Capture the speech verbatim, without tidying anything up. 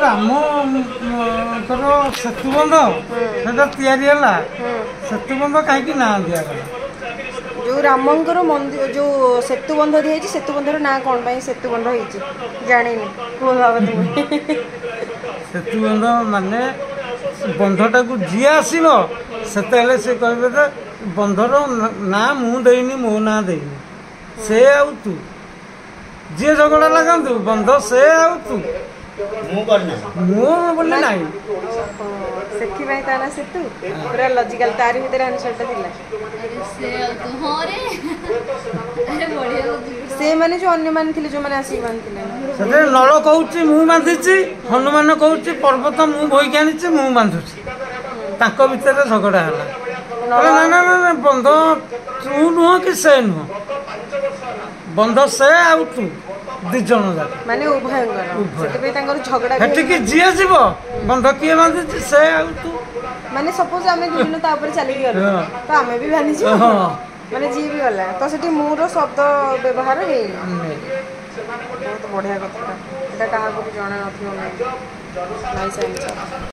ରାମଙ୍କର ସେତୁବନ୍ଧ ସେଟା ତିଆରି ହେଲା, ସେତୁବନ୍ଧ କାହିଁକି ନାଁ ଦିଆଗଲା? ଯୋଉ ରାମଙ୍କର ମନ୍ଦିର, ଯୋଉ ସେତୁ ବନ୍ଧ ଦିଆଯାଇଛି, ସେତୁ ବନ୍ଧର ନାଁ କ'ଣ ପାଇଁ ସେତୁ ବନ୍ଧ ହେଇଛି ଜାଣିନି, କୁହ ବାବା ତୁମେ। ସେତୁବନ୍ଧ ମାନେ ବନ୍ଧଟାକୁ ଯିଏ ଆସିବ ସେତେବେଳେ ସେ କହିବେ ଯେ ବନ୍ଧର ନାଁ ମୁଁ ଦେଇନି, ମୋ ନାଁ ଦେଇନି, ସେ ଆଉ ତୁ। ଯିଏ ଝଗଡ଼ା ଲାଗନ୍ତୁ, ବନ୍ଧ ସେ ଆଉ ତୁ, ମୁଁ ବୋଲି ନାହିଁ। ସେଥିପାଇଁ ତା ନାଁ ସେତୁ। ପୁରା ଲଜିକାଲ, ତାରି ଭିତରେ ଆନ୍ସରଟା ଥିଲା। ସେ ମାନେ ଯୋଉ ଅନ୍ୟମାନେ ଥିଲେ, ଯୋଉମାନେ ଆସିକି ବାନ୍ଧିଥିଲେ। ସେଥିରେ ନଳ କହୁଛି ମୁଁ ବାନ୍ଧିଛି, ହନୁମାନ କହୁଛି ପର୍ବତ ମୁଁ ବୋହିକି ଆଣିଛି, ମୁଁ ବାନ୍ଧୁଛି। ତାଙ୍କ ଭିତରେ ଝଗଡ଼ା ହେଲା। ନା ନା ନା, ବନ୍ଧ ତୁ ନୁହଁ କି ସେ ନୁହଁ, ବନ୍ଧ ସେ ଆଉ ତୁ, ଦି ଜଣ ଯାକ, ମାନେ ଉଭୟଙ୍କର। ସେଥିପାଇଁ ତାଙ୍କର ଝଗଡ଼ା। ସେଠିକି ଯିଏ ଯିବ, ବନ୍ଧ କିଏ ବାନ୍ଧିଛି? ସେ ଆଉ ତୁ। ମାନେ ସପୋଜ ଆମେ ଦି ଜଣ ତା ଉପରେ ଚାଲିକି ଗଲୁ, ତ ଆମେ ବି ବାନ୍ଧିଛୁ। ମାନେ ଯିଏ ବି ଗଲା, ତ ସେଠି ମୋର ଶବ୍ଦ ବ୍ୟବହାର ହେଇନି। ବହୁତ ବଢିଆ କଥାଟା ଏଇଟା, କାହାକୁ ବି ଜଣା ନଥିବ। Nice answer.